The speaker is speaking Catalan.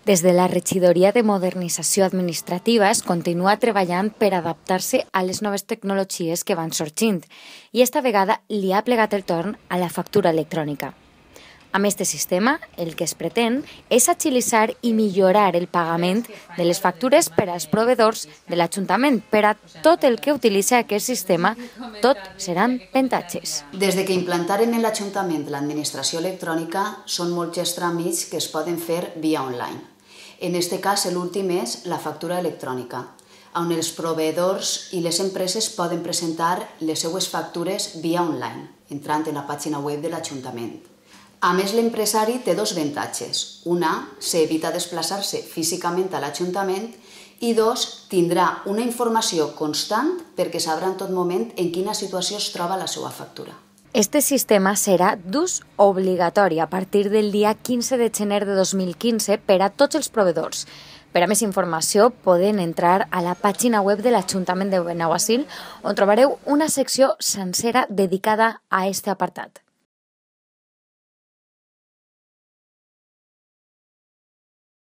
Des de la Regidoria de Modernització Administrativa es continua treballant per adaptar-se a les noves tecnologies que van sorgint i esta vegada li ha plegat el torn a la factura electrònica. Amb aquest sistema, el que es pretén és agilitzar i millorar el pagament de les factures per als proveïdors de l'Ajuntament. Per a tot el que utilitza aquest sistema, tot seran avantatges. Des de que implantaren en l'Ajuntament l'administració electrònica, són molts els tràmits que es poden fer via online. En aquest cas, l'últim és la factura electrònica, on els proveïdors i les empreses poden presentar les seues factures via online, entrant en la pàgina web de l'Ajuntament. A més, l'empresari té dos avantatges. Una, s'evita desplaçar-se físicament a l'Ajuntament i dos, tindrà una informació constant perquè sabrà en tot moment en quina situació es troba la seva factura. Este sistema serà d'ús obligatori a partir del dia 15 de gener de 2015 per a tots els proveïdors. Per a més informació poden entrar a la pàgina web de l'Ajuntament de Benaguasil on trobareu una secció sencera dedicada a aquest apartat.